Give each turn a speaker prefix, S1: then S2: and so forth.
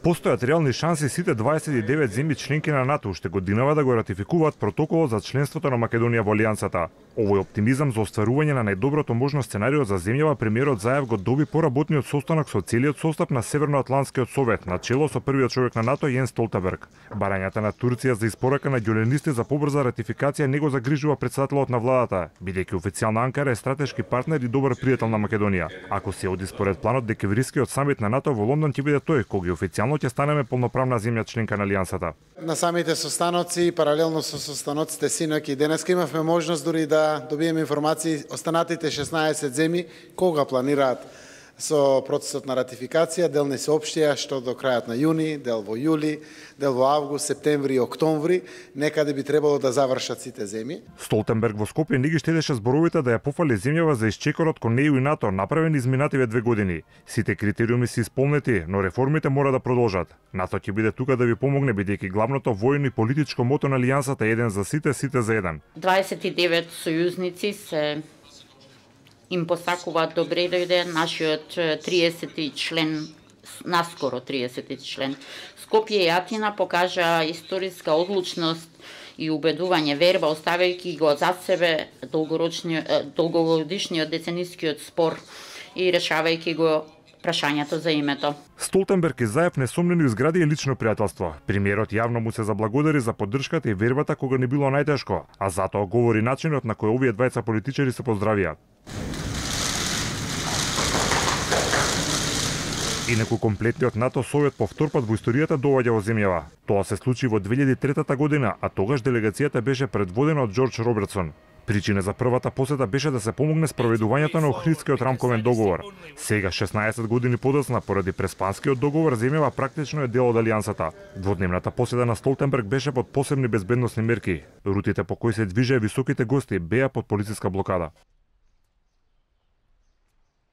S1: Постојат реални шанси сите 29 земји членки на НАТО уште годинава да го ратификуваат протоколот за членството на Македонија во Алијансата. Овој оптимизам за остварување на најдоброто можно сценарио за земјава премиерот Заев го доби поработниот состанок со целиот состав на Северноатлантскиот совет, на чело со првиот човек на НАТО Јенс Столтенберг. Барањата на Турција за испорака на ѓоленисти за побрза ратификација не го загрижува претседателот на владата, бидејќи официјално Анкара е стратешки партнер и добар пријател на Македонија. Ако се оди според планот, декемврискиот самит на НАТО во Лондон ќе биде тој кој официјално ќе станеме полноправна земја членка на Алијансата.
S2: На самите состаноци, паралелно со состаноците синоќ и денеска имавме можност дури да добиеме информации останатите 16 земји кога планираат со процесот на ратификација. Дел не се општија што до крајот на јуни, дел во јули, дел во август, септември и октомври, некаде би требало да завршат сите земји.
S1: Столтенберг во Скопје не ги штедеше зборовите да ја пофали земјава за исчекорот кон ЕУ и НАТО направени изминативе 2 години. Сите критериуми се исполнети, но реформите мора да продолжат. НАТО ќе биде тука да ви помогне, бидејќи главното војно и политичко мото на Алијансата е еден за сите, сите за еден.
S3: 29 сојузници се им посакуваат добре дојде нашиот 30 член, наскоро 30 член. Скопје и Атина покажа историска одлучност и убедување верба, оставајќи го зад себе долгогодишниот деценискиот спор и решавајќи го прашањето за името.
S1: Столтенберг и Заев несомнено изградија лично пријателство. Премиерот јавно му се заблагодари за поддршката и вербата кога не било најтешко, а затоа говори начинот на кој овие двајца политичари се поздравија. Инаку комплетниот НАТО совет по втор пат во историјата доаѓа во земјава. Тоа се случи во 2003 година, а тогаш делегацијата беше предводена од Џорџ Робертсон. Причина за првата посета беше да се помогне спроведувањето на Охридскиот рамковен договор. Сега, 16 години подоцна, поради Преспанскиот договор, земјава практично е дел од Алијансата. Дводневната посета на Столтенберг беше под посебни безбедносни мерки. Рутите по кои се движеа високите гости беа под полициска блокада.